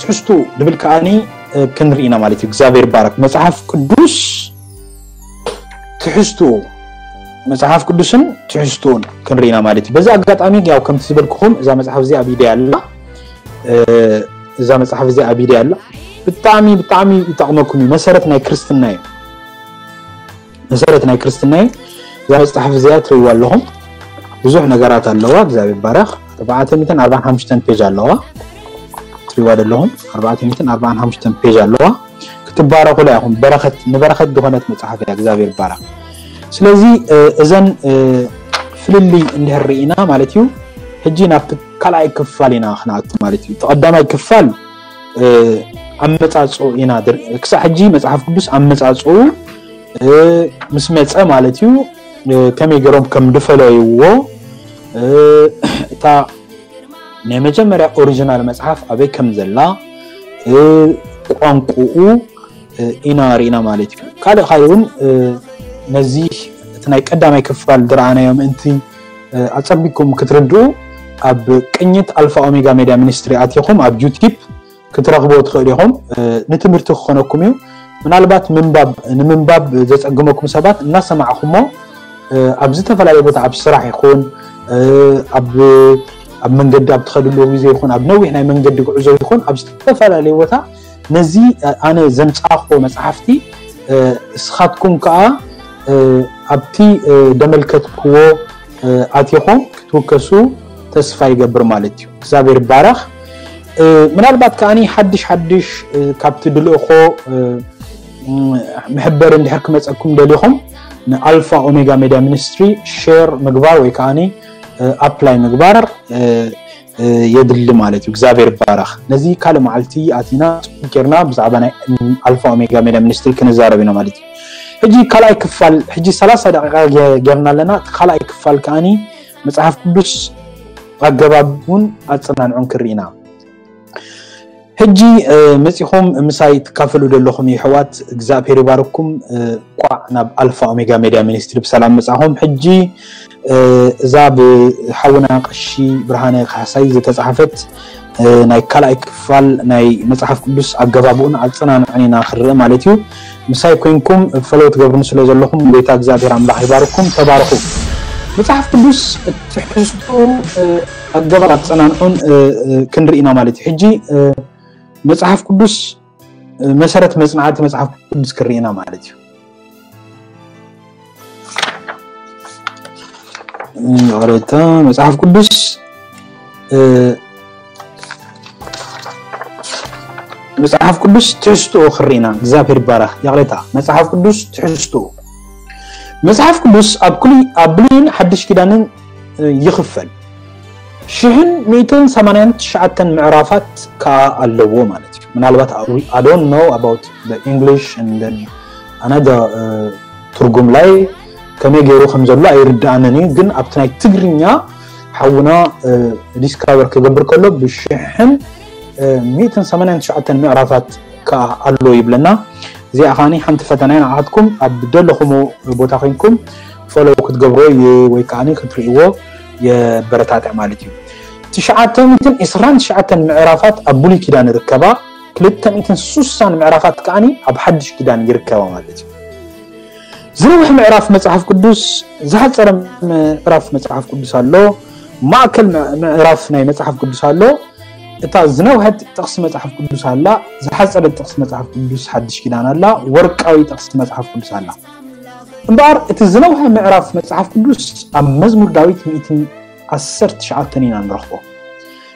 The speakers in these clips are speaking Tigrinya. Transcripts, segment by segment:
ትሕዝቱ ድብል ከዓኒ ክንርኢና ማለት እዩ። እግዚኣብሔር ይባረክ። መጽሓፍ ቅዱስ ትሕዝቱ፣ መጽሓፍ ቅዱስን ትሕዝቱን ክንርኢና ማለት እዩ። በዚ ኣጋጣሚ ያው ከምቲ ዝበልኩኹም እዛ መጽሓፍ እዚኣ ኣብ ኢደይ ኣላ። እዛ መጽሓፍ እዚኣ ኣብ ኢደይ ኣላ። ብጣዕሚ ብጣዕሚ ይጠቕመኩም እዩ። መሰረት ናይ ክርስትና እዩ። መሰረት ናይ ክርስትና እዩ። እዛ መጽሓፍ እዚኣ ትርእይዋ ኣለኹም፣ ብዙሕ ነገራት ኣለዋ። እግዚኣብሔር ይባረኽ። ኣርባዕተ ሚእትን ኣርባዓን ሓሙሽተን ፔጅ ኣለዋ። ትርእይዋ ዘለኹም ኣርባዕተ ሚእትን ኣርባዓን ሓሙሽተን ፔጅ ኣለዋ። ክትባረኹላ ኢኹም። በረኸት፣ ንበረኸት ዝኾነት መጽሓፍ እያ። እግዚኣብሔር ይባረኽ። ስለዚ እዘን ፍልልይ እንድሕር ርኢና ማለት እዩ፣ ሕጂ ናብቲ ካልኣይ ክፋል ኢና ክንኣቱ ማለት እዩ። እቲ ቀዳማይ ክፋል ኣመጻጽኡ ኢና፣ ክሳብ ሕጂ መጽሓፍ ቅዱስ ኣመጻጽኡ፣ ምስ መጸ ማለት እዩ፣ ከመይ ገይሮም ከም ድፈለይዎ፣ እታ ናይ መጀመርያ ኦሪጂናል መጽሓፍ ኣበይ ከም ዘላ፣ ቋንቋኡ ኢና ርኢና ማለት እዩ። ካልእ ካልእ እውን ነዚ እቲ ናይ ቀዳማይ ክፋል ዝረኣናዮ ምእንቲ ኣጸቢቅኩም ክትርድኡ፣ ኣብ ቅኝት ኣልፋ ኦሜጋ ሜድያ ሚኒስትሪ ኣቲኹም ኣብ ዩቲብ ክትረኽብዎ ትኽእሉ ኢኹም። ንትምህርቲ ክኾነኩም እዩ። ምናልባት ምንባብ፣ ንምንባብ ዘጸግመኩም ሰባት እናሰማዕኹሞ፣ ኣብ ዝተፈላለየ ቦታ፣ ኣብ ስራሕ ይኹን፣ ኣብ ኣብ መንገዲ ኣብ ትኸድሉ ግዜ ይኹን፣ ኣብ ነዊሕ ናይ መንገዲ ጉዕዞ ይኹን፣ ኣብ ዝተፈላለየ ቦታ ነዚ ኣነ ዘምጻእክዎ መጽሓፍቲ እስኻትኩም ከኣ ኣብቲ ደመልከትክዎ ኣቲኹም ክትውከሱ ተስፋ ይገብር ማለት እዩ። እግዚኣብሔር ይባረኽ። ምናልባት ከኣኒ ሓድሽ ሓድሽ ካብቲ ድልእኾ መሕበሪ እንድሕር ክመጸኩም ደሊኹም፣ ንኣልፋ ኦሜጋ ሜድያ ሚኒስትሪ ሼር ምግባር ወይ ከኣኒ ኣፕላይ ምግባር የድሊ ማለት እዩ። እግዚኣብሔር ይባረኽ። ነዚ ካልእ መዓልቲ ኣቲና ጽቡቅ ጌርና ብዛዕባ ናይ ኣልፋ ኦሜጋ ሜድያ ሚኒስትሪ ክንዛረብ ኢና ማለት እዩ። ሕጂ ካልኣይ ክፋል፣ ሕጂ ሰላሳ ደቂቃ ገ-፣ ጌርና ኣለና። እቲ ካልኣይ ክፋል ከኣኒ መጽሓፍ ቅዱስ ኣገባቡን ኣጸናንዑን ክርኢ ኢና። ሕጂ መጺኹም ምሳይ ትካፈሉ ዘለኹም የሕዋት እግዚኣብሔር ይባርኩም። እንቋዕ ናብ ኣልፋ ኦሜጋ ሜድያ ሚኒስትሪ ብሰላም መጻኹም። ሕጂ እዛ ብሓውና ቀሺ ብርሃነ ካሕሳይ ዝተጻሕፈት ናይ ካልኣይ ክፋል ናይ መጽሓፍ ቅዱስ ኣገባብኡን ኣጸናንዑን ኢና ክንርኢ ማለት እዩ። ምሳይ ኮይንኩም ፈለው ትገብሩኒ ስለ ዘለኹም ጎይታ እግዚኣብሔር ኣምላኽ ይባርኩም። ተባረኹ። መጽሓፍ ቅዱስ ትሕዝቱ ኣገባብ ኣጸናንዑን ክንርኢ ኢና ማለት እዩ። ሕጂ መጽሓፍ ቅዱስ መሰረት መጽናዕቲ መጽሓፍ ቅዱስ ክርኢ ኢና ማለት እዩ። ይቕሬታ፣ መጽሓፍ ቅዱስ መጽሓፍ ቅዱስ ትሕዝትኡ ክርኢ ኢና። እግዚኣብሔር ይባረኽ። ይቕሬታ፣ መጽሓፍ ቅዱስ ትሕዝትኡ፣ መጽሓፍ ቅዱስ ኣብ ኩሉ፣ ኣብ ብሉይን ሓድሽ ኪዳንን ይኽፈል። ሽሕን ሚእትን ሰማንያን ትሽዓተን ምዕራፋት ከኣ ኣለዎ ማለት እዩ። ምናልባት I don't know about the English and then another ትርጉም ላይ ከመይ ገይሩ ከም ዘሎ ኣይርድኣንን እዩ። ግን ኣብቲ ናይ ትግርኛ ሓውና ዲስካቨር ክገብር ከሎ ብሽሕን ሚእትን ሰማንያን ትሽዓተን ምዕራፋት ከኣ ኣሎ ይብለና። እዚኣ ከኣኒ ሓንቲ ፈተና እያ ንዓኻትኩም። ኣብ ደለኹሞ ቦታ ኮይንኩም ፎሎው ክትገብርዎ ይ-፣ ወይ ከኣኒ ክትርእይዎ የበረታትዕ ማለት እዩ። ትሽዓተ ሚእትን ዕስራን ትሽዓተን ምዕራፋት ኣብ ብሉይ ኪዳን ይርከባ፣ ክልተ ሚእትን ስሳን ምዕራፋት ከኣኒ ኣብ ሓድሽ ኪዳን ይርከባ ማለት እዩ። ዝነውሐ ምዕራፍ መጽሓፍ ቅዱስ፣ ዝሓጸረ ምዕራፍ መጽሓፍ ቅዱስ ኣሎ፣ ማእከል ምዕ-፣ ምዕራፍ ናይ መጽሓፍ ቅዱስ ኣሎ። እታ ዝነውሐት ጥቕሲ መጽሓፍ ቅዱስ ኣላ፣ ዝሓጸረት ጥቕሲ መጽሓፍ ቅዱስ ሓድሽ ኪዳን ኣላ፣ ወርቃዊ ጥቕሲ መጽሓፍ ቅዱስ ኣላ። እምበኣር እቲ ዝነውሐ ምዕራፍ መጽሓፍ ቅዱስ ኣብ መዝሙር ዳዊት ሚእትን ዓሰርተ ትሽዓተን ኢና ንረኽቦ።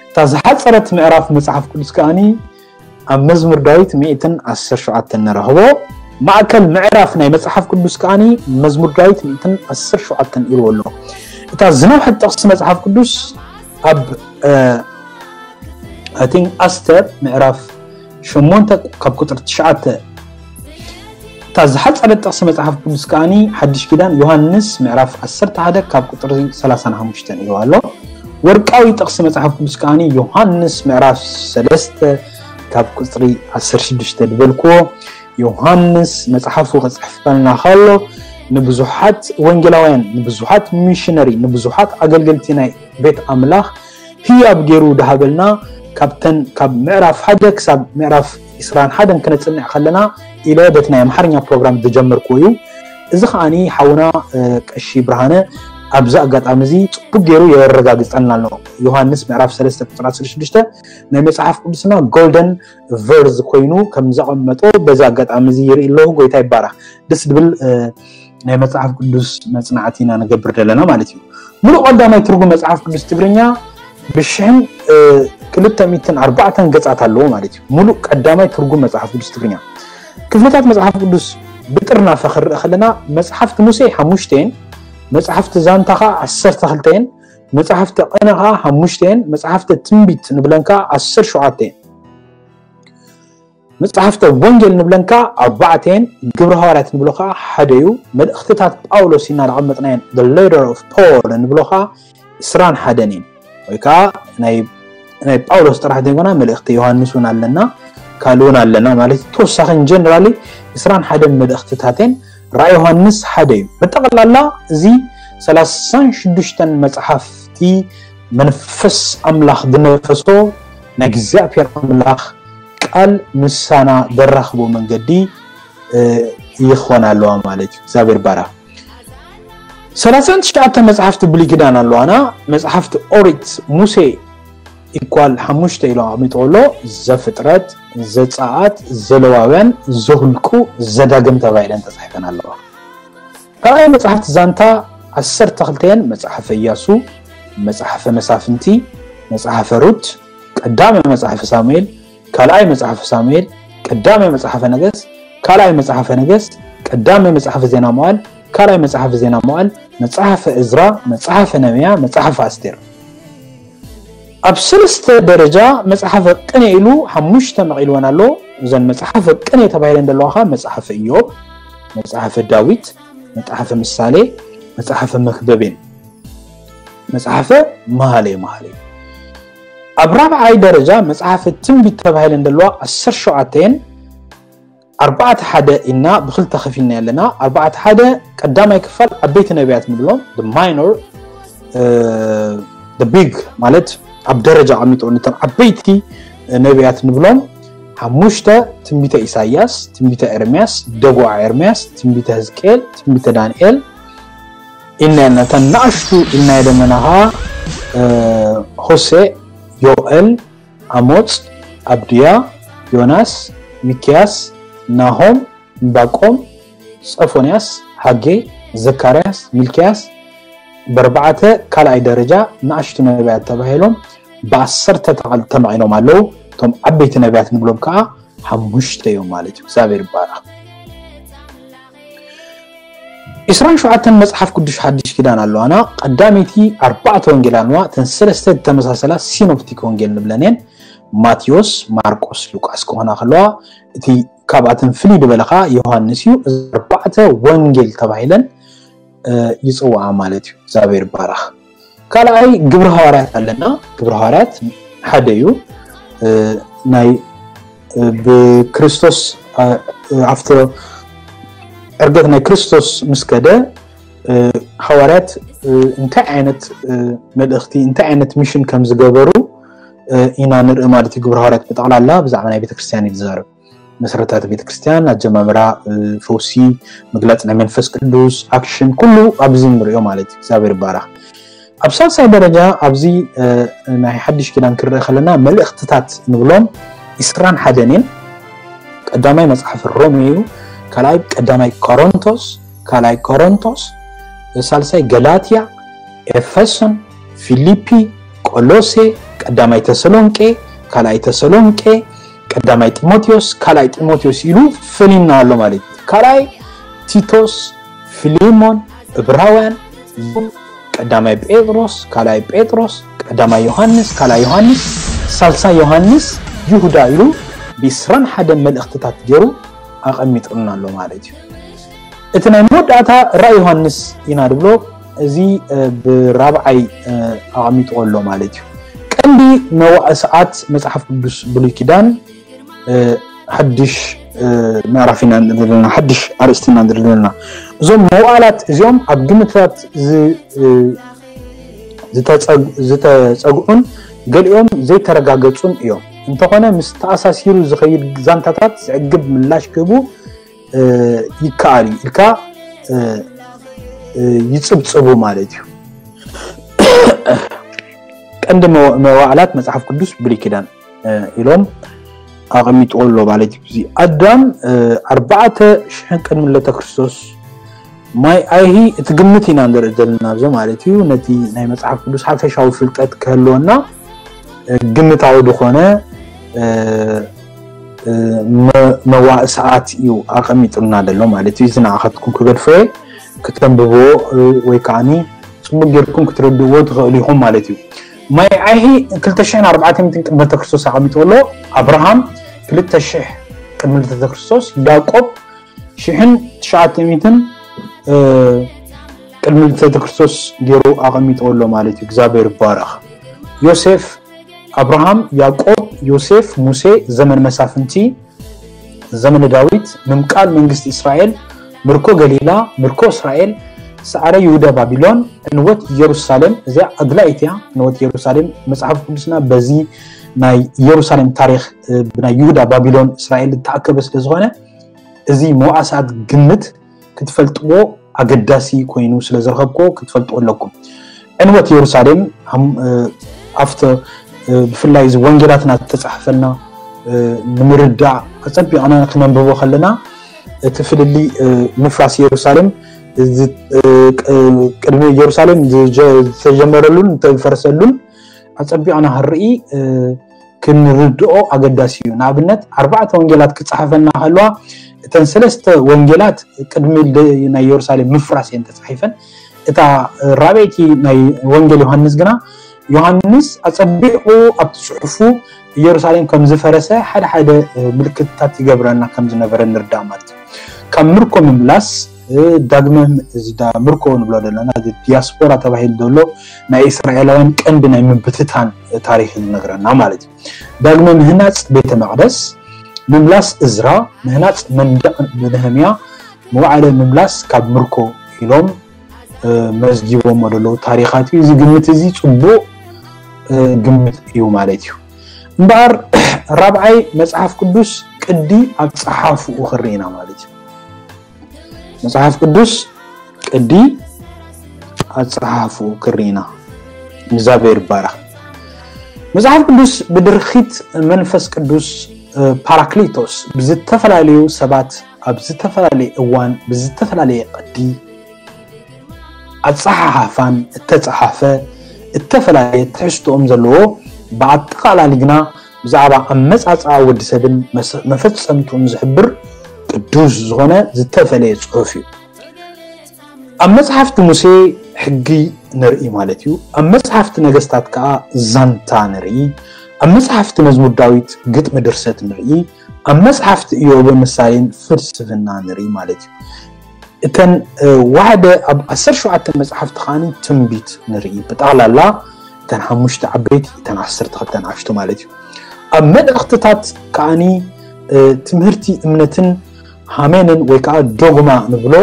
እታ ዝሓጸረት ምዕራፍ መጽሓፍ ቅዱስ ከኣኒ ኣብ መዝሙር ዳዊት ሚእትን ዓሰርተ ትሽዓተን ንረኽቦ። ማእከል ምዕራፍ ናይ መጽሓፍ ቅዱስ ከኣኒ መዝሙር ዳዊት ሚእትን ዓሰርተ ትሽዓተን ኢልዎ ኣሎ። እታ ዝነውሐት ጥቕሲ መጽሓፍ ቅዱስ ኣብ፣ እ፣ I think ኣስተር ምዕራፍ ሸሞንተ ካብ ቁጽሪ ትሽዓተ። እታ ዝሓጸረት ጥቕሲ መጽሓፍ ቅዱስ ከኣኒ ሓድሽ ኪዳን ዮሃንስ ምዕራፍ ዓሰርተ ሓደ ካብ ቁጽሪ ሰላሳን ሓሙሽተን ኢልዎ ኣሎ። ወርቃዊ ጥቕሲ መጽሓፍ ቅዱስ ከኣኒ ዮሃንስ ምዕራፍ ሰለስተ ካብ ቁጽሪ ዓሰርተ ሽዱሽተ ዝበልክዎ። ዮሃንስ መጽሓፉ ክጽሕፈልና ከሎ ንብዙሓት ወንጌላውያን፣ ንብዙሓት ሚሽነሪ፣ ንብዙሓት ኣገልገልቲ ናይ ቤት ኣምላኽ ህያብ ገይሩ ድሃበልና ካብተን ካብ ምዕራፍ ሓደ ክሳብ ምዕራፍ ዕስራን ሓደን ክነጽንዕ ከለና ኢለ በቲ ናይ ኣምሓርኛ ፕሮግራም ዝጀመርኩ እዩ። እዚ ከዓኒ ሓውና ቀሺ ብርሃነ ኣብዚ ኣጋጣሚ እዚ ጽቡቅ ገይሩ የረጋግጸልና ኣሎ። ዮሃንስ ምዕራፍ ሰለስተ ቁጽሪ ዓሰርተ ሽዱሽተ ናይ መጽሓፍ ቅዱስና ጎልደን ቨርዝ ኮይኑ ከም ዘቐመጦ በዚ ኣጋጣሚ እዚ ይርኢ ኣለኹ። ጎይታ ይባረኽ። ደስ ዝብል ናይ መጽሓፍ ቅዱስ መጽናዕቲ ኢና ንገብር ዘለና ማለት እዩ። ሙሉእ ቀዳማይ ትርጉም መጽሓፍ ቅዱስ ትግርኛ ብሽሕን ክልተ ሚእትን ኣርባዕተን ገጻት ኣለዎ ማለት እዩ። ሙሉእ ቀዳማይ ትርጉም መጽሓፍ ቅዱስ ትግርኛ። ክፍልታት መጽሓፍ ቅዱስ ብጥርናፈ ክንርኢ ከለና መጽሓፍቲ ሙሴ ሓሙሽተ እየን፣ መጽሓፍቲ ዛንታ ኸዓ ዓሰርተ ክልተ እየን፣ መጽሓፍቲ ቅነ ኸዓ ሓሙሽተ እየን፣ መጽሓፍቲ ትንቢት ንብለን ከዓ ዓሰርተ ሸውዓተ እየን። መጽሓፍተ ወንጌል ንብለን ከኣ ኣርባዕተ እየን፣ ግብረ ሃዋርያት ንብሎ ከኣ ሓደ እዩ። መልእኽትታት ጳውሎስ ኢልና ዘቐመጥናየን the letter of Paul ንብሎ ከኣ ዕስራን ሓደን እየን። ወይ ከኣ ናይ ናይ ጳውሎስ ጥራሕ ዘይኮና መልእኽቲ ዮሃንስ እውን ኣለና፣ ካልእ እውን ኣለና ማለት እዩ። ተወሳኺ ጀነራሊ ዕስራን ሓደን መልእኽትታት እየን። ራእይ ዮሃንስ ሓደ እዩ። ብጠቕላላ እዚ ሰላሳን ሽዱሽተን መጽሓፍቲ መንፈስ ኣምላኽ ዝነፈሶ ናይ እግዚኣብሔር ኣምላኽ ቃል ምሳና ዘራኽቦ መንገዲ ይኾን ኣለዋ ማለት እዩ። እግዚኣብሔር ባራ ሰላሳን ትሽዓተ መጽሓፍቲ ብሉይ ኪዳን ኣለዋና። መጽሓፍቲ ኦሪት ሙሴ ኢኳል ሓሙሽተ ኢሉ ኣቕሚጥዎ ኣሎ። ዘፍጥረት፣ ዘጸኣት፣ ዘለዋውያን፣ ዘሁልቁ፣ ዘዳግም ተባሂለን ተጻሒፈን ኣለዋ። ካልኣይ መጽሓፍቲ ዛንታ ዓሰርተ ክልተ እየን፣ መጽሓፈ ኢያሱ፣ መጽሓፈ መሳፍንቲ፣ መጽሓፈ ሩት፣ ቀዳመ መጽሓፈ ሳሙኤል፣ ካልኣይ መጽሓፈ ሳሙኤል፣ ቀዳመ መጽሓፈ ነገስት፣ ካልኣይ መጽሓፈ ነገስት፣ ቀዳመ መጽሓፈ ዜና መዋዕል፣ ካልኣይ መጽሓፈ ዜና መዋዕል፣ መጽሓፈ እዝራ፣ መጽሓፈ ነህምያ፣ መጽሓፈ ኣስቴር። ኣብ ሰለስተ ደረጃ መጽሓፈ ቅኔ ኢሉ ሓሙሽተ መቒልወን ኣሎ። እዘን መጽሓፈ ቅኔ ተባሂለን ዘለዋ ኸኣ መጽሓፈ ኢዮብ፣ መጽሓፈ ዳዊት፣ መጽሓፈ ምሳሌ፣ መጽሓፈ መክብብ እየን። መጽሓፈ መሃሌ መሃሌ። ኣብ ራብዓይ ደረጃ መጽሓፈ ትንቢት ተባሂለን ዘለዋ ዓሰርተ ሸውዓተ እየን። ኣርባዕተ ሓደ ኢና ብኽልተ ከፊልና ኣለና። ኣርባዕተ ሓደ ቀዳማይ ክፋል ዓበይቲ ነቢያት ንብሎም፣ the minor፣ the big ማለት ኣብ ደረጃ ኣቐሚጦ ነቶም ዓበይቲ ነቢያት ንብሎም። ሓሙሽተ ትንቢተ ኢሳያስ፣ ትንቢተ ኤርምያስ፣ ደጉዓ ኤርምያስ፣ ትንቢተ ህዝቅኤል፣ ትንቢተ ዳንኤል ኢልና ነተን ንኣሽቱ ኢልና የደመናኻ ሆሴ፣ ዮኤል፣ ኣሞጽ፣ ኣብድያ፣ ዮናስ፣ ሚክያስ፣ ናሆም፣ እምባቆም፣ ጸፎንያስ፣ ሃጌ፣ ዘካርያስ፣ ሚልክያስ፣ በርባዕተ ካልኣይ ደረጃ ንኣሽቱ ነቢያት ተባሂሎም ብዓሰርተ ተቐል ተማቒሎም ኣለዉ። እቶም ዓበይቲ ነቢያት ንብሎም ከኣ ሓሙሽተ እዮም ማለት እዩ። እግዚኣብሔር ይባረኽ። ዕስራን ሸውዓተን መጽሓፍ ቅዱስ ሓድሽ ኪዳን ኣለዋና። ቀዳመይቲ ኣርባዕተ ወንጌል ኣለዋ። እተን ሰለስተ ዝተመሳሰላ ሲኖፕቲክ ወንጌል ንብለን እየን። ማቴዎስ፣ ማርቆስ፣ ሉቃስ ክኾና ከለዋ፣ እቲ ካብኣተን ፍልይ ዝበለ ኸዓ ዮሃንስ እዩ። እዚ ኣርባዕተ ወንጌል ተባሂለን ይፅዋዓ ማለት እዩ። እግዚኣብሔር ይባረኽ። ካልኣይ ግብረ ሃዋርያት ኣለና። ግብረ ሃዋርያት ሓደ እዩ። ናይ ብክርስቶስ ኣብቲ ዕርገት ናይ ክርስቶስ ምስ ከደ ሃዋርያት እንታይ ዓይነት መልእኽቲ እንታይ ዓይነት ሚሽን ከም ዝገበሩ ኢና ንርኢ ማለት እዩ። ግብረ ሃዋርያት ብጠቕላላ ብዛዕባ ናይ ቤተክርስትያን እዩ ዝዛረብ። መሰረታት ቤተክርስትያን፣ ኣጀማምራ፣ ፈውሲ፣ ምግላፅ ናይ መንፈስ ቅዱስ፣ ኣክሽን፣ ኩሉ ኣብዚ ንሪኦ ማለት እዩ። እግዚኣብሔር ይባረኽ። ኣብ ሳልሳይ ደረጃ ኣብዚ ናይ ሓድሽ ኪዳን ክንርኢ ከለና መልእኽትታት ንብሎም ዕስራን ሓደን እየን። ቀዳማይ መጽሓፍ ሮሜ እዩ። ካልኣይ ቀዳማይ ቆሮንቶስ፣ ካልኣይ ቆሮንቶስ፣ ሳልሳይ ገላትያ፣ ኤፌሶን፣ ፊሊፒ፣ ቆሎሴ፣ ቀዳማይ ተሰሎንቄ፣ ካልኣይ ተሰሎንቄ፣ ቀዳማይ ጢሞቴዎስ፣ ካልኣይ ጢሞቴዎስ ኢሉ ፈሊና ኣሎ ማለት እዩ። ካልኣይ ቲቶስ፣ ፊሊሞን፣ እብራውያን፣ ቀዳማይ ጴጥሮስ፣ ካልኣይ ጴጥሮስ፣ ቀዳማይ ዮሃንስ፣ ካልኣይ ዮሃንስ፣ ሳልሳይ ዮሃንስ፣ ይሁዳ ኢሉ ብዕስራን ሓደን መልእኽትታት ገይሩ ኣቐሚጥልና ኣሎ ማለት እዩ። እቲ ናይ መወዳእታ ራእይ ዮሃንስ ኢና ንብሎ፣ እዚ ብራብዓይ ኣቐሚጥዎ ኣሎ ማለት እዩ። ቀንዲ መዋእሰኣት መጽሓፍ ቅዱስ ብሉይ ኪዳን ሓድሽ ምዕራፍ ኢና ንርኢ ዘለና፣ ሓድሽ ኣርእስቲ ኢና ንርኢ ዘለና። እዞም መዋእላት እዚኦም ኣብ ግምታት ዝተጸግዑን ገሊኦም ዘይተረጋገጹን እዮም። እንተኾነ ምስ ተኣሳሲሩ ዝኸይድ ዛንታታት ዘዕግብ ምላሽ ክህቡ ይከኣል እዩ ኢልካ ይጽብጽቡ ማለት እዩ። ቀንዲ መዋዕላት መጽሓፍ ቅዱስ ብሉይ ኪዳን ኢሎም ኣቐሚጥዎ ኣሎ ማለት እዩ። እዚ ኣዳም ኣርባዕተ ሽሕን ቅድሚ ልደተ ክርስቶስ ማይ ኣይሂ እቲ ግምት ኢና ንርኢ ዘለና ኣብዚ ማለት እዩ። ነቲ ናይ መጽሓፍ ቅዱስ ሓፈሻዊ ፍልጠት ክህልወና ግምታዊ ዝኾነ መዋእ ሰዓት እዩ ኣቐሚጥልና ዘሎ ማለት እዩ። እዚ ንዓኻትኩም ክገድፎ እየ፣ ክተንብብዎ ወይ ከዓኒ ጽቡቅ ጌርኩም ክትርድእዎ ትኽእሉ ኢኹም ማለት እዩ። ማይ ዓይሂ ክልተ ሽሕን ኣርባዕተ ሚእትን ቅድሚ ልደተ ክርስቶስ ኣቐሚጥዎ ኣሎ። ኣብርሃም ክልተ ሽሕ ቅድሚ ልደተ ክርስቶስ፣ ያዕቆብ ሽሕን ትሽዓተ ሚእትን ቅድሚ ልደተ ክርስቶስ ገይሩ ኣቐሚጥዎ ኣሎ ማለት እዩ። እግዚኣብሔር ይባረኽ። ዮሴፍ፣ ኣብርሃም፣ ያዕቆብ፣ ዮሴፍ፣ ሙሴ፣ ዘመን መሳፍንቲ፣ ዘመነ ዳዊት፣ ምምቃል መንግስቲ እስራኤል፣ ምርኮ ገሊላ፣ ምርኮ እስራኤል፣ ሰዓረ ይሁዳ ባቢሎን፣ ዕንወት ኢየሩሳሌም። እዚኣ ኣድላይት እያ። ዕንወት ኢየሩሳሌም መጽሓፍ ቅዱስና በዚ ናይ ኢየሩሳሌም ታሪኽ ብናይ ይሁዳ ባቢሎን እስራኤል ዝተኣከበ ስለ ዝኾነ እዚ መዋእሰኣት ግምት ክትፈልጥዎ ኣገዳሲ ኮይኑ ስለ ዝረኸብክዎ ክትፈልጥዎ ኣለኩም። ዕንወት ኢየሩሳሌም ኣብቲ ብፍላይ እዚ ወንጌላትና ዝተጻሕፈልና ንምርዳእ ኣጸቢቕና ክነንብቦ ከለና እቲ ፍልልይ ምፍራስ ኢየሩሳሌም ቅድሚ ኢየሩሳሌም ዝተጀመረሉን ዝተፈረሰሉን ኣጸቢቕና ክንርኢ ክንርድኦ ኣገዳሲ እዩ። ንኣብነት ኣርባዕተ ወንጌላት ክጸሓፈልና ከለዋ እተን ሰለስተ ወንጌላት ቅድሚ ናይ ኢየሩሳሌም ምፍራስ እየን ተጻሒፈን። እታ ራብዐይቲ ናይ ወንጌል ዮሃንስ ግና ዮሃንስ ኣጸቢቑ ኣብቲ ጽሑፉ ኢየሩሳሌም ከም ዝፈረሰ ሓደ ሓደ ምልክትታት ይገብረና ከም ዝነበረ ንርዳእ ማለት እዩ። ካብ ምርኮ ምምላስ ዳግመ ምርኮ ንብሎ ዘለና ዲያስፖራ ተባሂሉ ዘሎ ናይ እስራኤላውያን ቀንዲ ናይ ምብትታን ታሪኽ ዝነግረና ማለት እዩ። ዳግመ ምህናፅ ቤተ መቅደስ፣ ምምላስ እዝራ፣ ምህናፅ መንደቅ ነህምያ፣ መዋዕለ ምምላስ ካብ ምርኮ ኢሎም መዝጊቦሞ ዘለዉ ታሪኻት እዩ። እዚ ግምት እዚ ፅቡቅ ግምት እዩ ማለት እዩ። እምበኣር ራብዓይ መፅሓፍ ቅዱስ ቅዲ ኣብ ፀሓፍኡ ክርኢና ማለት እዩ። መፅሓፍ ቅዱስ ቅዲ ኣፀሓሕፍኡ ክርኢና እግዚኣብሔር ይባረኽ። መፅሓፍ ቅዱስ ብድርኺት መንፈስ ቅዱስ ፓራክሊቶስ ብዝተፈላለዩ ሰባት ኣብ ዝተፈላለየ እዋን ብዝተፈላለየ ቅዲ ኣፀሓሓፋን እተፀሓፈ እተፈላለየ ትሕዝትኦም ዘለዎ ብኣጠቓላሊ ግና ብዛዕባ ኣመፃፅኣ ወዲ ሰብን መፈፀምትኡን ዝሕብር ቅዱስ ዝኾነ ዝተፈለየ ፅሑፍ እዩ። ኣብ መፅሓፍቲ ሙሴ ሕጊ ንርኢ ማለት እዩ። ኣብ መፅሓፍቲ ነገስታት ከዓ ዛንታ ንርኢ። ኣብ መፅሓፍቲ መዝሙር ዳዊት ግጥሚ ድርሰት ንርኢ። ኣብ መፅሓፍቲ እዮብን ምሳሌን ፍልስፍና ንርኢ ማለት እዩ። እተን ዋሕደ ኣብ ዓሰርተ ሸውዓተ መፅሓፍቲ ከዓኒ ትንቢት ንርኢ። ብጠቕላላ እተን ሓሙሽተ ዓበይቲ እተን ዓሰርተ ክልተ ንኣሽቱ ማለት እዩ። ኣብ መልእኽትታት ከዓኒ ትምህርቲ እምነትን ሃሜንን ወይ ከዓ ዶግማ ንብሎ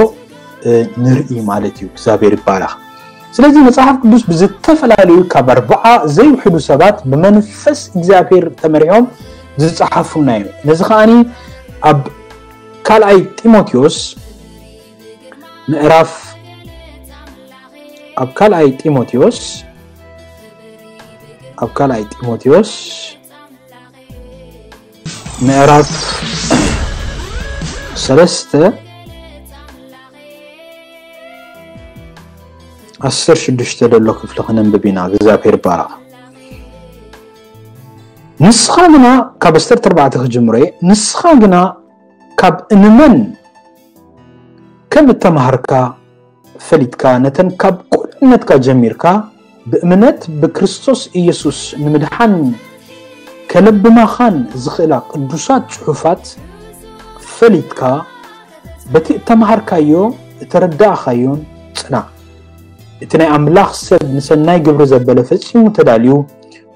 ንርኢ ማለት እዩ። እግዚኣብሔር ይባረኽ። ስለዚ መፅሓፍ ቅዱስ ብዝተፈላለዩ ካብ ኣርባዓ ዘይውሕዱ ሰባት ብመንፈስ እግዚኣብሔር ተመሪሖም ዝፀሓፉና እዩ። ነዚ ከዓኒ ኣብ ካልኣይ ጢሞቴዎስ ምዕራፍ ኣብ ካልኣይ ጢሞቴዎስ ኣብ ካልኣይ ጢሞቴዎስ ምዕራፍ ሰለስተ ዓሰርተ ሽዱሽተ ዘሎ ክፍሊ ክነንብብ ኢና። እግዚኣብሔር ይባረኽ። ንስኻ ግና ካብ ዓሰርተ ኣርባዕተ ክጅምሮ እየ። ንስኻ ግና ካብ እንመን ከም እተማሃርካ ፈሊጥካ ነተን ካብ ቁልዕነትካ ጀሚርካ ብእምነት ብክርስቶስ ኢየሱስ ንምድሓን ከለብማኻን ዝኽእላ ቅዱሳት ጽሑፋት ፈሊጥካ በቲ እተማሃርካዮ እተረዳእኻዮን ጽናዕ። እቲ ናይ ኣምላኽ ሰብ ንሰናይ ግብሪ ዘበለ ፈጺሙ ተዳልዩ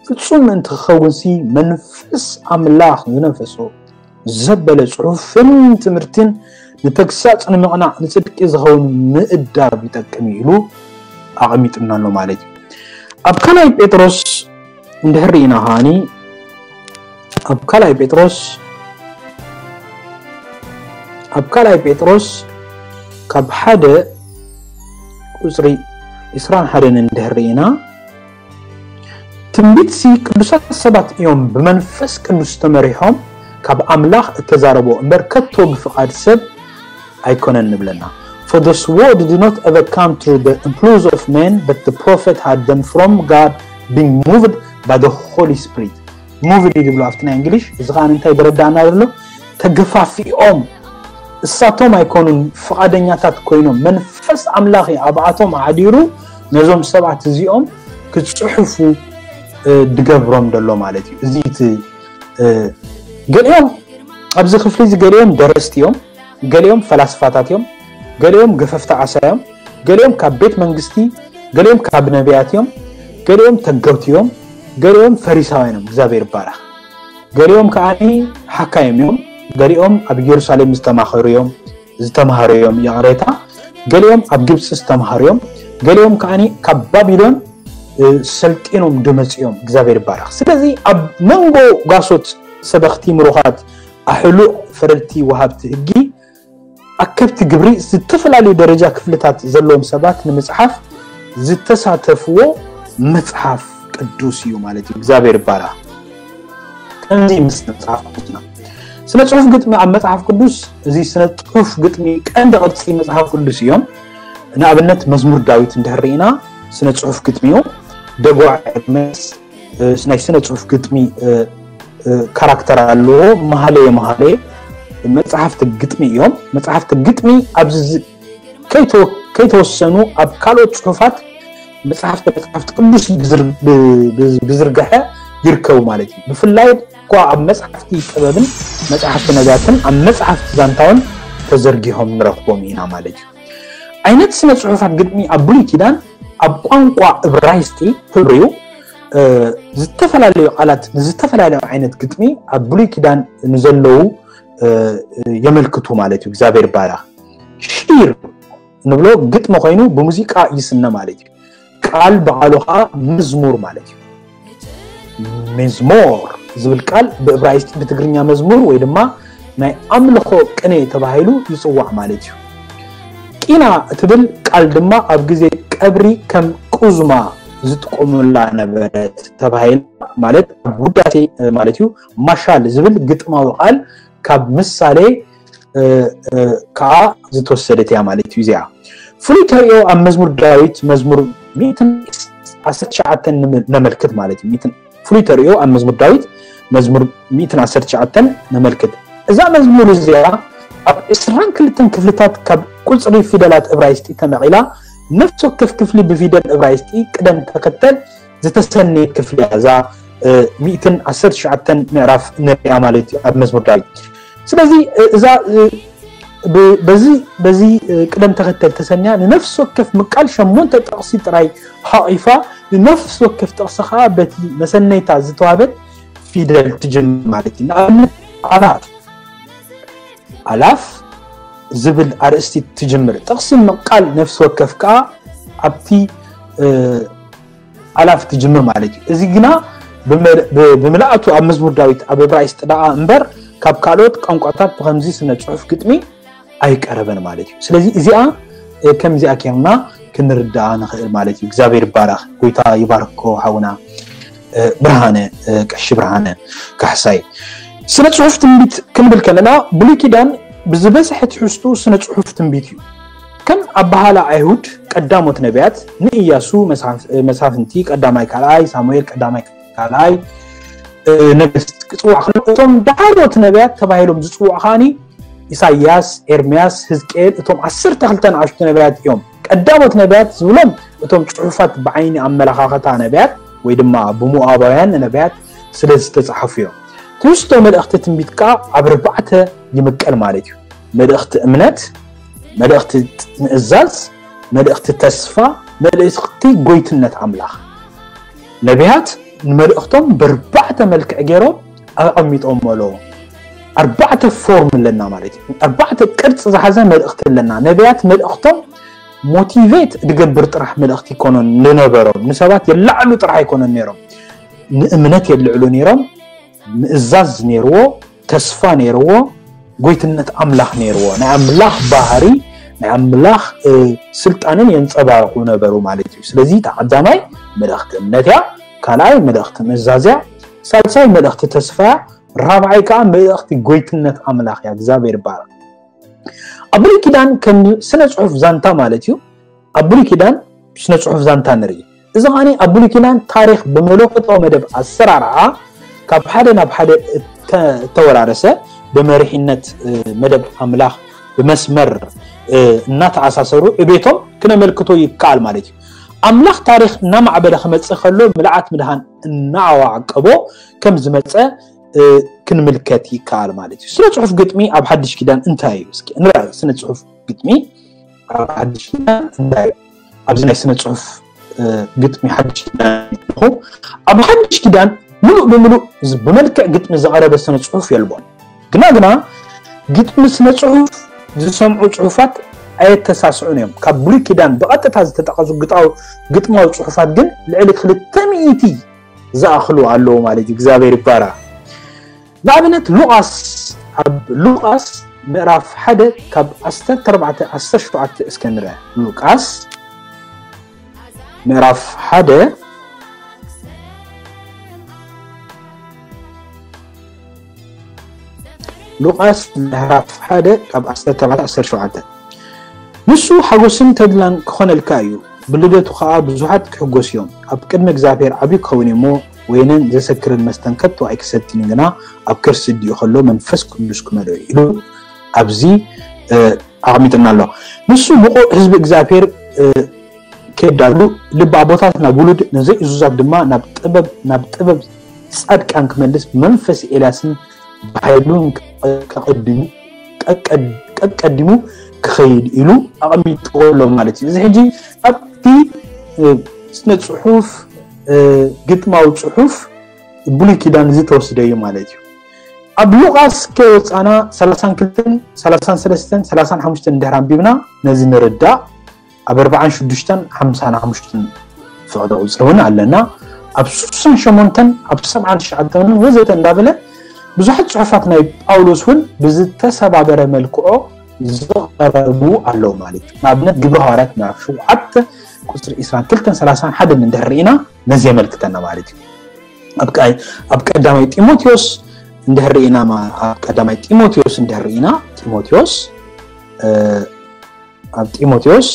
ፍጹም ምእንቲ ክኸውንሲ መንፈስ ኣምላኽ ዝነፈሶ ዘበለ ጽሑፍን ትምህርትን ንተግሳጽ ንምቕናዕ ንጽድቂ ዝኸውን ምእዳብ ይጠቅም እዩ ኢሉ ኣቐሚጥና ኣሎ ማለት እዩ። ኣብ ካልኣይ ጴጥሮስ እንድሕር ርኢና ከዓኒ ኣብ ካልኣይ ጴጥሮስ ኣብ ካልኣይ ጴጥሮስ ካብ ሓደ ቁፅሪ ዕስራን ሓደን እንድሕር ርኢና ትንቢትሲ ቅዱሳት ሰባት እዮም ብመንፈስ ቅዱስ ተመሪሖም ካብ ኣምላኽ እተዛረቦ እምበር ከቶ ብፍቓድ ሰብ ኣይኮነን ንብለና። For the word did not ever come to the impulse of men, but the prophet had them from God, being moved by the Holy Spirit. Moved እዩ ዝብሎ ኣብቲ ናይ እንግሊሽ። እዚ ከዓ እንታይ ዝረዳእና ዘሎ? ተገፋፊኦም እሳቶም ኣይኮኑን ፍቓደኛታት ኮይኖም መንፈስ ኣምላኽ ኣብኣቶም ኣዕዲሩ ነዞም ሰባት እዚኦም ክፅሕፉ ድገብሮም ዘሎ ማለት እዩ። እዚ እቲ ገሊኦም ኣብዚ ክፍሊ እዚ ገሊኦም ደረስቲ እዮም፣ ገሊኦም ፈላስፋታት እዮም፣ ገሊኦም ገፈፍቲ ዓሳ እዮም፣ ገሊኦም ካብ ቤት መንግስቲ፣ ገሊኦም ካብ ነቢያት እዮም፣ ገሊኦም ተገብቲ እዮም፣ ገሊኦም ፈሪሳውያን እዮም። እግዚኣብሔር ይባረኽ። ገሊኦም ከዓኒ ሓካይም እዮም፣ ገሊኦም ኣብ ኢየሩሳሌም ዝተማኸሩ እዮም፣ ዝተማሃሩ እዮም፣ ይቕሬታ፣ ገሊኦም ኣብ ግብፂ ዝተማሃሩ እዮም፣ ገሊኦም ከዓኒ ካብ ባቢሎን ሰልጢኖም ድመፅኦም። እግዚኣብሔር ይባረኽ። ስለዚ ኣብ መንጎ ጓሶት ሰበኽቲ ምሩኻት ኣሕሉቕ ፈረድቲ ወሃብቲ ህጊ ኣከብቲ ግብሪ ዝተፈላለዩ ደረጃ ክፍልታት ዘለዎም ሰባት ንምፅሓፍ ዝተሳተፍዎ መፅሓፍ ቅዱስ እዩ ማለት እዩ። እግዚኣብሔር ይባረኽ። ከምዚ ምስ መፅሓፍ ቅዱስና ስነ ፅሑፍ ግጥሚ ኣብ መፅሓፍ ቅዱስ እዚ ስነ ፅሑፍ ግጥሚ ቀንዲ ቅርፂ መፅሓፍ ቅዱስ እዮም። ንኣብነት መዝሙር ዳዊት እንድሕር ርኢና ስነ ፅሑፍ ግጥሚ እዩ። ደጓዕ ኤርምያስ ናይ ስነ ፅሑፍ ግጥሚ ካራክተር ኣለዎ። መሃለየ መሃለየ መፅሓፍቲ ግጥሚ እዮም። መፅሓፍቲ ግጥሚ ኣብዚ ከይተወሰኑ ኣብ ካልኦት ፅሑፋት መፅሓፍቲ መፅሓፍቲ ቅዱስ ብዝርግሐ ይርከቡ ማለት እዩ። ብፍላይ እኳ ኣብ መፅሓፍቲ ጥበብን መፅሓፍቲ ነቢያትን ኣብ መፅሓፍቲ ዛንታውን ተዘርጊሖም ንረኽቦም ኢና ማለት እዩ። ዓይነት ስነ ፅሑፋት ግጥሚ ኣብ ብሉይ ኪዳን ኣብ ቋንቋ እብራይስጢ ህብሪው ዝተፈላለዩ ቃላት ንዝተፈላለዩ ዓይነት ግጥሚ ኣብ ብሉይ ኪዳን ንዘለዉ የመልክቱ ማለት እዩ። እግዚኣብሔር ይባረኽ። ሺር ንብሎ ግጥሚ ኮይኑ ብሙዚቃ ይስነ ማለት እዩ። ቃል ብቃሉ ከዓ መዝሙር ማለት እዩ። መዝሞር ዝብል ቃል ብእብራይስጢ ብትግርኛ መዝሙር ወይ ድማ ናይ ኣምልኾ ቅኔ ተባሂሉ ይፅዋዕ ማለት እዩ። ቂና እትብል ቃል ድማ ኣብ ግዜ ቀብሪ ከም ቁዝማ ዝጥቀሙላ ነበረት ተባሂላ ማለት ኣብ ውዳሴ ማለት እዩ። ማሻል ዝብል ግጥማዊ ቃል ካብ ምሳሌ ከዓ ዝተወሰደት እያ ማለት እዩ። እዚኣ ፍሉይ ተርእዮ ኣብ መዝሙር ዳዊት መዝሙር ሚእትን ዓሰርተ ትሽዓተን ነመልክት ማለት እዩ። ፍሉይ ተርእዮ ኣብ መዝሙር ዳዊት መዝሙር ሚእትን ዓሰርተ ትሽዓተን ነመልክት። እዛ መዝሙር እዚኣ ኣብ ዕስራን ክልተን ክፍልታት ካብ ቁፅሪ ፊደላት እብራይስጢ ተመቒላ ነፍሲ ወከፍ ክፍሊ ብፊደል እብራይስጢ ቅደም ተኸተል ዝተሰነየት ክፍሊ እያ። እዛ ሚእትን ዓሰርተ ትሽዓተን ምዕራፍ ንሪኣ ማለት እዩ ኣብ መዝሙር ዳዊት። ስለዚ እዛ በዚ በዚ ቅደም ተኸተል ተሰንያ ንነፍሲ ወከፍ ምቃል ሸሞንተ ጥቕሲ ጥራይ ሓቒፋ ንነፍሲ ወከፍ ጥቕሲ ከዓ በቲ መሰነይታ ዝተዋበት ፊደል ትጅምር ማለት እዩ። ንኣብነት ኣላፍ ኣላፍ ዝብል ኣርእስቲ ትጅምር ጥቕሲ ምቃል ነፍሲ ወከፍ ከዓ ኣብቲ ኣላፍ ትጅምር ማለት እዩ። እዚ ግና ብምልኣቱ ኣብ መዝሙር ዳዊት ኣብ እብራይስጢ ደኣ እምበር ካብ ካልኦት ቋንቋታት ብኸምዚ ስነ ጽሑፍ ግጥሚ ኣይቀረበን ማለት እዩ። ስለዚ እዚኣ ከምዚኣ ኬርና ክንርዳኣ ንኽእል ማለት እዩ። እግዚኣብሔር ይባረኽ። ጎይታ ይባርኮ ሓውና ብርሃነ ቀሺ ብርሃነ ካሕሳይ። ስነ ጽሑፍ ትንቢት ክንብል ከለና ብሉይ ኪዳን ብዝበዝሐ ትሕዝቱ ስነ ጽሑፍ ትንቢት እዩ። ከም ኣባሃላ ኣይሁድ ቀዳሞት ነቢያት ንኢያሱ መሳፍንቲ ቀዳማይ ካልኣይ ሳሙኤል ቀዳማይ ካልኣይ ነገስት ክፅዋዕ ከሎ እቶም ዳሕሮት ነቢያት ተባሂሎም ዝፅዋዕ ከዓኒ ኢሳያስ፣ ኤርምያስ፣ ህዝቅኤል እቶም ዓሰርተ ክልተ ንኣሽቱ ነቢያት እዮም። ቀዳሞት ነቢያት ዝብሎም እቶም ፅሑፋት ብዓይኒ ኣመለኻኸታ ነቢያት ወይ ድማ ብሞኣባውያን ነቢያት ስለ ዝተፃሓፉ እዮም። ትሕዝቶ መልእኽቲ ትንቢት ከዓ ኣብ ኣርባዕተ ይምቀል ማለት እዩ። መልእኽቲ እምነት፣ መልእኽቲ ምእዛዝ፣ መልእኽቲ ተስፋ፣ መልእኽቲ ጎይትነት ኣምላኽ። ነቢያት ንመልእኽቶም በርባዕተ መልክዕ ገይሮም ኣቐሚጦም ኣለዉ። ኣርባዕተ ፎርም ኣለና ማለት እዩ። ኣርባዕተ ቅርፂ ዝሓዘ መልእኽቲ ኣለና። ነቢያት መልእኽቶም ሞቲቬት ዝገብር ጥራሕ መልእኽቲ ይኮኖን ዝነበሮም፣ ንሰባት የላዕሉ ጥራሕ ኣይኮነን ነይሮም። ንእምነት የልዕሉ ነይሮም። ምእዛዝ ነይርዎ፣ ተስፋ ነይርዎ፣ ጎይትነት ኣምላኽ ነይርዎ። ናይ ኣምላኽ ባህሪ፣ ናይ ኣምላኽ ስልጣንን የንፀባርቑ ነበሩ ማለት እዩ። ስለዚ እታ ቀዳማይ መልእኽቲ እምነት እያ፣ ካልኣይ መልእኽቲ ምእዛዝ እያ፣ ሳልሳይ መልእኽቲ ተስፋ እያ፣ ራብዓይ ከዓ መልእኽቲ ጎይትነት ኣምላኽ እያ። እግዚኣብሔር ይባረክ። ኣብ ብሉይ ኪዳን ከም ስነ ፅሑፍ ዛንታ ማለት እዩ። ኣብ ብሉይ ኪዳን ስነ ፅሑፍ ዛንታ ንርኢ። እዚ ከዓኒ ኣብ ብሉይ ኪዳን ታሪኽ ብመለኮታዊ መደብ ኣሰራርዓ ካብ ሓደ ናብ ሓደ እተወራረሰ፣ ብመሪሕነት መደብ ኣምላኽ ብመስመር እናተኣሳሰሩ ዕቤቶም ክነመልክቶ ይከኣል ማለት እዩ። ኣምላኽ ታሪኽ እናማዕበለ ክመፅእ ከሎ ምልኣት ምድሃን እናዓዋቀቦ ከም ዝመፀ ክንምልከት ይከኣል ማለት እዩ። ስነ ፅሑፍ ግጥሚ ኣብ ሓድሽ ኪዳን እንታይ እዩ? እስኪ ንርኣ። ስነ ፅሑፍ ግጥሚ ኣብ ሓድሽ ኪዳን እንታይ እዩ? ኣብዚ ናይ ስነ ፅሑፍ ግጥሚ ሓድሽ ኪዳን ኣለኹ። ኣብ ሓድሽ ኪዳን ሙሉእ ብሙሉእ ብመልክዕ ግጥሚ ዝቐረበ ስነ ፅሑፍ የልቦን። ግና ግና ግጥሚ ስነ ፅሑፍ ዝሰምዑ ፅሑፋት ኣየተሳስዑን እዮም። ካብ ብሉይ ኪዳን ብቐጥታ ዝተጠቐሱ ግጥማዊ ፅሑፋት ግን ልዕሊ ክልተ ሚእቲ ዝኣኽሉ ኣለዉ ማለት እዩ። እግዚኣብሔር ይባራ። ንኣብነት ሉቃስ፣ ኣብ ሉቃስ ምዕራፍ ሓደ ካብ ዓሰርተ ኣርባዕተ ዓሰርተ ሸውዓተ እስከ ንርአ። ሉቃስ ምዕራፍ ሓደ ሉቃስ ምዕራፍ ሓደ ካብ ዓሰርተ ኣርባዕተ ዓሰርተ ሸውዓተ። ንሱ ሓጎስን ተድላን ክኾነልካ እዩ፣ ብልደቱ ኸኣ ብዙሓት ክሕጎሱ እዮም። ኣብ ቅድሚ እግዚኣብሔር ዓብዩ ክኸውን እዩ እሞ፣ ወይንን ዘሰክርን መስተን ከቶ ኣይክሰትን፣ ግና ኣብ ከርሲ ኣዲኡ ኸሎ መንፈስ ቅዱስ ክመልኦ እዩ ኢሉ ኣብዚ ኣቕሚጥና ኣሎ። ንሱ ብቑዕ ህዝቢ እግዚኣብሔር ከየዳሉ፣ ልቢ ኣቦታት ናብ ውሉድ፣ ንዘይእዙዛት ድማ ናብ ጥበብ፣ ናብ ጥበብ ጻድቃን ክመልስ ብመንፈስ ኤልያስን ብሓይሉን ከቐድሙ ቀቀዲሙ ክኸይድ ኢሉ ኣቐሚጥዎ ኣሎ ማለት እዩ። እዚ ሕጂ ኣብቲ ስነ ጽሑፍ፣ ግጥማዊ ጽሑፍ ብሉይ ኪዳን እዚ ተወስደ እዩ ማለት እዩ። ኣብ ሉቃስ ከይወፃና ሰላሳን ክልተን ሰላሳን ሰለስተን ሰላሳን ሓሙሽተን እንድሕር ኣንቢብና ነዚ ንርዳእ። ኣብ ኣርባዓን ሽዱሽተን ሓምሳን ሓሙሽተን ፍቕዲ ቁፅሪ እውን ኣለና። ኣብ ስሳን ሸሞንተን ኣብ ሰብዓን ትሽዓተን እውን ወዘተ እንዳበለ ብዙሓት ፅሑፋት ናይ ጳውሎስ እውን ብዝተሰባበረ መልክዖ ዝቐረቡ ኣለዉ ማለት እዩ። ንኣብነት ግብሪ ሃዋርያት ምዕራፍ ሸውዓተ ቁፅሪ ዕስራን ክልተን ሰላሳን ሓደን እንድሕር ርኢና ነዚ የመልክተና ማለት እዩ። ኣብ ቀዳማይ ጢሞቴዎስ እንድሕር ርኢና፣ ኣብ ቀዳማይ ጢሞቴዎስ እንድሕር ርኢና፣ ጢሞቴዎስ ኣብ ጢሞቴዎስ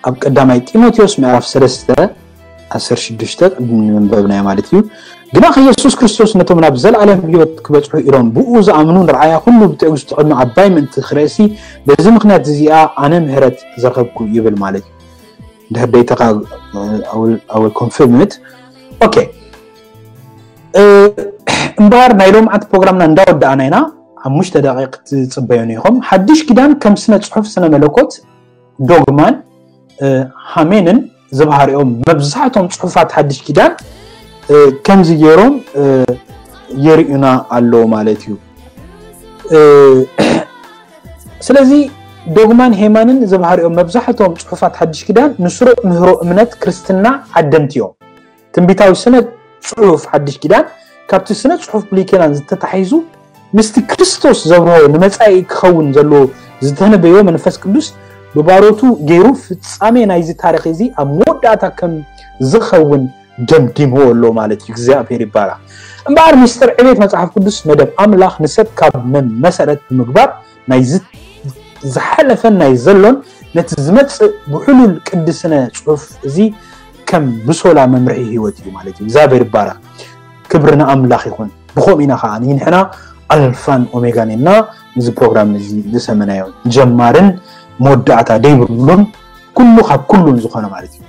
ኣብ ቀዳማይ ጢሞቴዎስ ምዕራፍ ሰለስተ ዓሰርተ ሽዱሽተ ቅድሚ ምንበብናዮ ማለት እዩ። ግና ከየሱስ ክርስቶስ ነቶም ናብ ዘለኣለም ህይወት ክበጽሑ ኢሎም ብኡ ዝኣምኑ ንርኣያ ኩሉ ብትዕግስቲ ቅድሚ ዓባይ ምእንቲ ክርእሲ፣ በዚ ምኽንያት እዚኣ ኣነ ምህረት ዝረኸብኩ ይብል ማለት እዩ። ድሕር ደይተኻ ኣወል ኮንፊርምት ኦኬ። እምበኣር ናይ ሎምዓንቲ ፕሮግራምና እንዳወዳእና ኢና። ሓሙሽተ ደቂቕ ትጽበዩን ኢኹም። ሓድሽ ኪዳን ከም ስነ ጽሑፍ ስነ መለኮት ዶግማን ሃሜንን ዝበሃሪኦም መብዛሕቶም ጽሑፋት ሓድሽ ኪዳን ከምዚ ገይሮም የርእዩና ኣለዉ ማለት እዩ። ስለዚ ዶግማን ሄማንን ዝበሃሪኦም መብዛሕቶም ጽሑፋት ሓድሽ ኪዳን ንስሩዕ ምህሮ እምነት ክርስትና ዓደምቲ እዮም። ትንቢታዊ ስነ ጽሑፍ ሓድሽ ኪዳን ካብቲ ስነ ጽሑፍ ብሉይ ኪዳን ዝተታሒዙ ምስቲ ክርስቶስ ዘብርሆ ንመጻኢ ክኸውን ዘለዎ ዝተነበዮ መንፈስ ቅዱስ ብባሮቱ ገይሩ ፍጻሜ ናይዚ ታሪኽ እዚ ኣብ መወዳእታ ከም ዝኸውን ደምዲምዎ ኣሎ ማለት እዩ። እግዚኣብሔር ይባረኽ። እምበኣር ምስጢር ዕቤት መጽሓፍ ቅዱስ መደብ ኣምላኽ ንሰብ ካብ መመሰረት ብምግባር ናይ ዝሓለፈን ናይ ዘሎን ነቲ ዝመጽእ ብሕሉል ቅዲ ስነ ጽሑፍ እዚ ከም ብሶላ መምርሒ ህይወት እዩ ማለት እዩ። እግዚኣብሔር ይባረኽ። ክብሪ ንኣምላኽ ይኹን። ብኸምኡ ኢና ኸዓ ንሕና ኣልፋን ኦሜጋን ኢና። ነዚ ፕሮግራም እዚ ዝሰመናዮ ጀማርን መወዳእታ ደይብሉን ኩሉ ካብ ኩሉን ዝኾነ ማለት እዩ።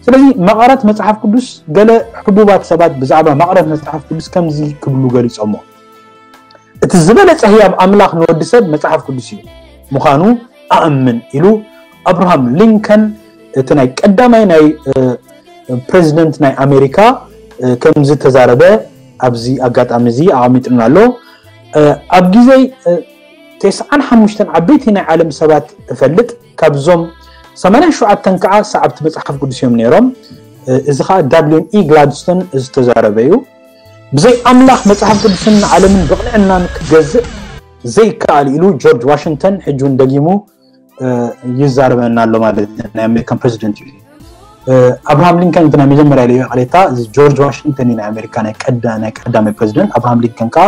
ስለዚ መቐረት መጽሓፍ ቅዱስ፣ ገለ ሕቡባት ሰባት ብዛዕባ መቐረት መጽሓፍ ቅዱስ ከምዚ ክብሉ ገሊጾሞ፣ እቲ ዝበለጸ ህያብ ኣምላኽ ንወዲ ሰብ መጽሓፍ ቅዱስ እዩ ምዃኑ ኣእምን ኢሉ ኣብርሃም ሊንከን፣ እቲ ናይ ቀዳማይ ናይ ፕሬዚደንት ናይ ኣሜሪካ፣ ከም ዝተዛረበ ኣብዚ ኣጋጣሚ እዚ ኣቐሚጥና ኣሎ። ኣብ ግዜ ተስዓን ሓሙሽተን ዓበይቲ ናይ ዓለም ሰባት እፈልጥ፣ ካብዞም ሰማንያን ሸውዓተን ከዓ ሰዓብቲ መጽሓፍ ቅዱስ እዮም ነይሮም። እዚ ከዓ ዳብሊን ኢ ግላድስቶን ዝተዛረበ እዩ። ብዘይ ኣምላኽ መጽሓፍ ቅዱስን ዓለምን ብቕንዕናን ክገዝእ ዘይከኣል ኢሉ ጆርጅ ዋሽንግተን ሕጂ እውን ደጊሙ ይዛረበና ኣሎ ማለት እዩ። ናይ ኣሜሪካን ፕሬዚደንት እዩ። ኣብርሃም ሊንከን እቲ ናይ መጀመርያ ኢሉ ይቕሬታ፣ እዚ ጆርጅ ዋሽንግተን እዩ ናይ ኣሜሪካ ናይ ቀዳ ናይ ቀዳማይ ፕሬዚደንት። ኣብርሃም ሊንከን ከዓ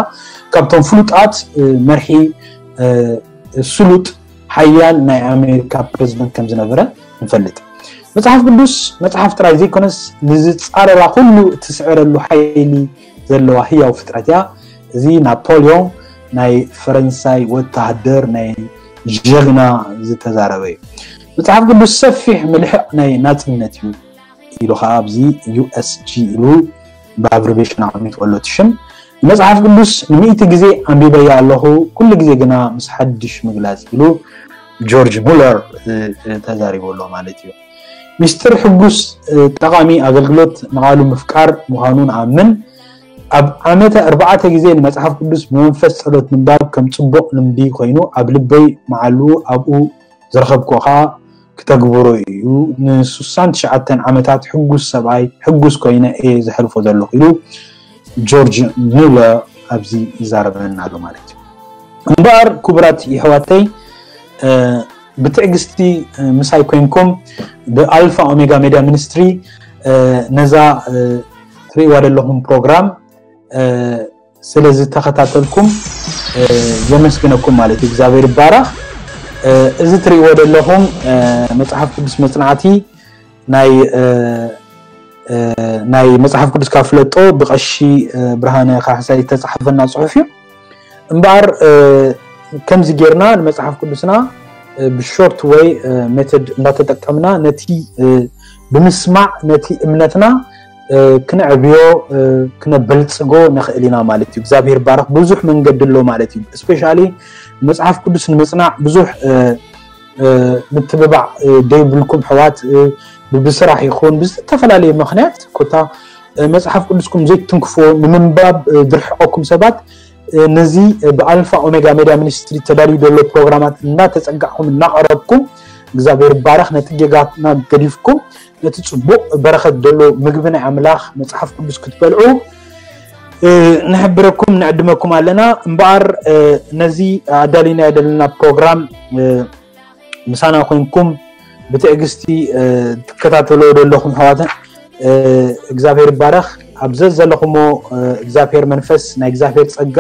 ካብቶም ፍሉጣት መርሒ ስሉጥ ሓያል ናይ ኣሜሪካ ፕሬዚደንት ከም ዝነበረ ንፈልጥ። መጽሓፍ ቅዱስ መጽሓፍ ጥራይ ዘይኮነስ ንዝጻረራ ኩሉ እትስዕረሉ ሓይሊ ዘለዋ ህያው ፍጥረት እያ። እዚ ናፖሊዮን ናይ ፈረንሳይ ወተሃደር ናይ ጀግና ዝተዛረበ እዩ። መጽሓፍ ቅዱስ ሰፊሕ ምልሕቕ ናይ ናጽነት እዩ ኢሉ ከዓ ኣብዚ ዩ ኤስ ጂ ኢሉ ብኣብሪቬሽን ኣቐሚጥዎ ኣሎ እቲ ሽም። ንመጽሓፍ ቅዱስ ንሚእቲ ግዜ ኣንቢበያ ኣለኹ፣ ኩሉ ግዜ ግና ምስ ሓድሽ ምግላጽ ኢሉ ጆርጅ ሙለር ተዛሪቡ ኣሎ ማለት እዩ። ሚስጥር ሕጉስ ጠቓሚ ኣገልግሎት ንቓሉ ምፍቃር ምዃኑ ንኣምን። ኣብ ዓመተ ኣርባዕተ ግዜ ንመጽሓፍ ቅዱስ ብመንፈስ ጸሎት ምንባብ ከም ጽቡቕ ልምዲ ኮይኑ ኣብ ልበይ መዓሉ ኣብኡ ዝረኸብኩኻ ክተግብሮ እዩ። ንሱሳን ትሽዓተን ዓመታት ሕጉስ ሰብኣይ ሕጉስ ኮይነ እየ ዘሕልፎ ዘለኹ ኢሉ ጆርጅ ሙለር ኣብዚ ይዛረበና ኣሎ ማለት እዩ። እምበኣር ክቡራት የሕዋተይ ብትዕግስቲ ምሳይ ኮይንኩም ብኣልፋ ኦሜጋ ሜድያ ሚኒስትሪ ነዛ ትርእይዋ ዘለኹም ፕሮግራም ስለ ዝተኸታተልኩም የመስግነኩም ማለት እዩ። እግዚኣብሔር ይባረኽ። እዚ ትርእይዎ ዘለኹም መጽሓፍ ቅዱስ መጽናዕቲ ናይ ናይ መጽሓፍ ቅዱስ ካብ ፍለጦ ብቐሺ ብርሃነ ካሕሳይ ዝተጻሕፈና ጽሑፍ እዩ። እምበኣር ከምዚ ጌርና ንመጽሓፍ ቅዱስና ብሾርት ወይ ሜቶድ እንዳተጠቀምና ነቲ ብምስማዕ ነቲ እምነትና ክነዕብዮ ክነበልጽጎ ንኽእል ኢና ማለት እዩ። እግዚኣብሔር ባረኽ። ብዙሕ መንገዲ ኣሎ ማለት እዩ። ስፔሻሊ መጽሓፍ ቅዱስ ንምጽናዕ ብዙሕ ምትብባዕ ደይብልኩም ሕዋት ብስራሕ ይኹን ብዝተፈላለየ ምኽንያት ኮታ መጽሓፍ ቅዱስኩም ዘይትንክፎ ንምንባብ ድርሕቐኩም ሰባት ነዚ ብኣልፋ ኦሜጋ ሜድያ ሚኒስትሪ ተዳልዩ ዘሎ ፕሮግራማት እናተጸጋዕኩም እናቐረብኩም እግዚኣብሔር ባረኽ ነቲ ጌጋትና ገዲፍኩም ነቲ ጽቡቕ በረኸት ዘሎ ምግቢ ናይ ኣምላኽ መጽሓፍ ቅዱስ ክትበልዑ ንሕብረኩም ንዕድመኩም ኣለና። እምበኣር ነዚ ኣዳሊናዮ ዘለና ፕሮግራም ምሳና ኮይንኩም ብትዕግስቲ ትከታተሎ ዘለኹም ኣሕዋትን እግዚኣብሔር ይባረኽ። ኣብ ዘዘለኹሞ እግዚኣብሔር መንፈስ ናይ እግዚኣብሔር ጸጋ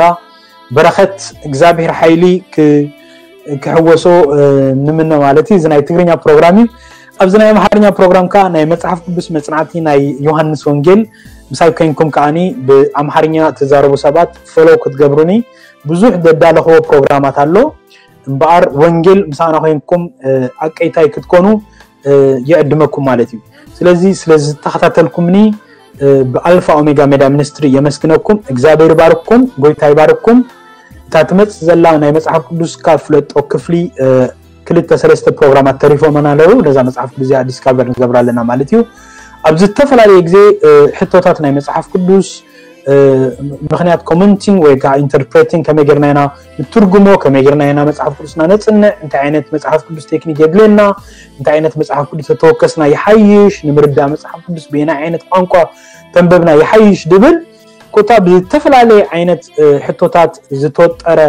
በረኸት እግዚኣብሔር ሓይሊ ክሕወሶ ንምነ ማለት እዩ። እዚ ናይ ትግርኛ ፕሮግራም እዩ። ኣብዚ ናይ ኣምሓርኛ ፕሮግራም ከዓ ናይ መጽሓፍ ቅዱስ መጽናዕቲ ናይ ዮሃንስ ወንጌል ምሳይ ኮይንኩም ከዓኒ ብኣምሓርኛ ትዛረቡ ሰባት ፎሎው ክትገብሩኒ ብዙሕ ዘዳለኽዎ ፕሮግራማት ኣሎ። እምበኣር ወንጌል ምሳና ኮይንኩም ኣቀይታይ ክትኮኑ ይዕድመኩም ማለት እዩ። ስለዚ ስለዝተኸታተልኩምኒ ብኣልፋ ኦሜጋ ሜድያ ሚኒስትሪ የመስግነኩም። እግዚኣብሔር ይባርኩም፣ ጎይታ ይባርኩም። እታ ትመጽእ ዘላ ናይ መጽሓፍ ቅዱስ ካብ ፍለጦ ክፍሊ ክልተ ሰለስተ ፕሮግራማት ተሪፎመና ኣለዉ። ነዛ መጽሓፍ ቅዱስ እዚኣ ዲስካቨር ንገብራ ኣለና ማለት እዩ። ኣብ ዝተፈላለየ ግዜ ሕቶታት ናይ መጽሓፍ ቅዱስ ምክንያት ኮመንቲንግ ወይ ከዓ ኢንተርፕሬቲንግ ከመይ ጌርና ኢና ንትርጉሞ፣ ከመይ ጌርና ኢና መጽሓፍ ቅዱስና ነጽንዕ፣ እንታይ ዓይነት መጽሓፍ ቅዱስ ቴክኒክ የድልየና፣ እንታይ ዓይነት መጽሓፍ ቅዱስ ተተወከስና ይሓይሽ፣ ንምርዳእ መጽሓፍ ቅዱስ ብየናይ ዓይነት ቋንቋ ተንበብና ይሓይሽ ድብል ኮታ ብዝተፈላለየ ዓይነት ሕቶታት ዝተወጠረ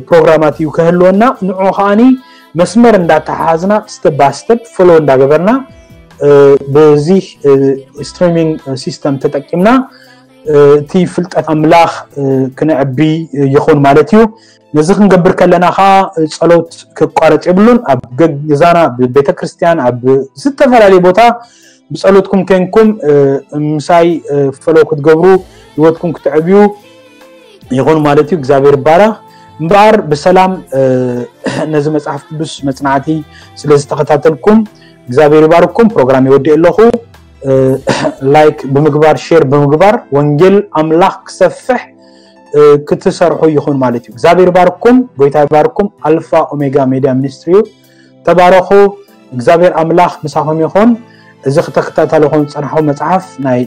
ፕሮግራማት እዩ ከህልወና። ንዑ ከዓኒ መስመር እንዳተሓዝና ስተፕ ባይ ስተፕ ፎሎ እንዳገበርና በዚ ስትሪሚንግ ሲስተም ተጠቂምና እቲ ፍልጠት ኣምላኽ ክነዕቢ ይኹን ማለት እዩ። ነዚ ክንገብር ከለና ከዓ ጸሎት ክቋረጽ የብሉን። ኣብ ገዛና፣ ኣብ ቤተ ክርስቲያን፣ ኣብ ዝተፈላለየ ቦታ ብጸሎትኩም ኮንኩም ምሳይ ፎሎ ክትገብሩ ህይወትኩም ክትዕብዩ ይኹን ማለት እዩ። እግዚኣብሔር ይባረኽ። እምበኣር ብሰላም ነዚ መጽሓፍ ቅዱስ መጽናዕቲ ስለ ዝተኸታተልኩም እግዚኣብሔር ይባርኩም። ፕሮግራም ይወድእ ኣለኹ። ላይክ ብምግባር ሼር ብምግባር ወንጌል ኣምላኽ ክሰፍሕ ክትሰርሑ ይኹን ማለት እዩ። እግዚኣብሔር ይባርኩም። ጎይታ ይባርኩም። ኣልፋ ኦሜጋ ሜድያ ሚኒስትሪ እዩ። ተባረኹ። እግዚኣብሔር ኣምላኽ ምሳኹም ይኹን። እዚ ክተከታተልኹም ዝጸናሕኹም መጽሓፍ ናይ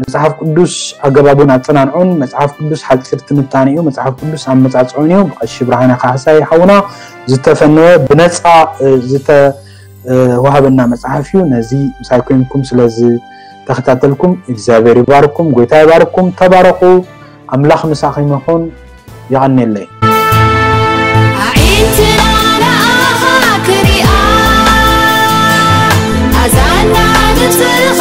መጽሓፍ ቅዱስ ኣገባቡን ኣጸናንዑን መጽሓፍ ቅዱስ ሓጺር ትንታኔ እዩ። መጽሓፍ ቅዱስ ኣመጻጽዑን እዩ። ብቐሺ ብርሃነ ካሕሳይ ሓውና ዝተፈነወ ብነጻ ዝተ ወሃበና መጽሓፍ እዩ። ነዚ ምሳይ ኮይንኩም ስለዚ ተኸታተልኩም እግዚኣብሔር ይባርኩም፣ ጎይታ ይባርኩም። ተባረኹ። ኣምላኽ ምሳኹም ይኹን። የቐንየለይ። ኣዒንትና ንኣኻ ክሪኣ ኣዛና ድምፅኻ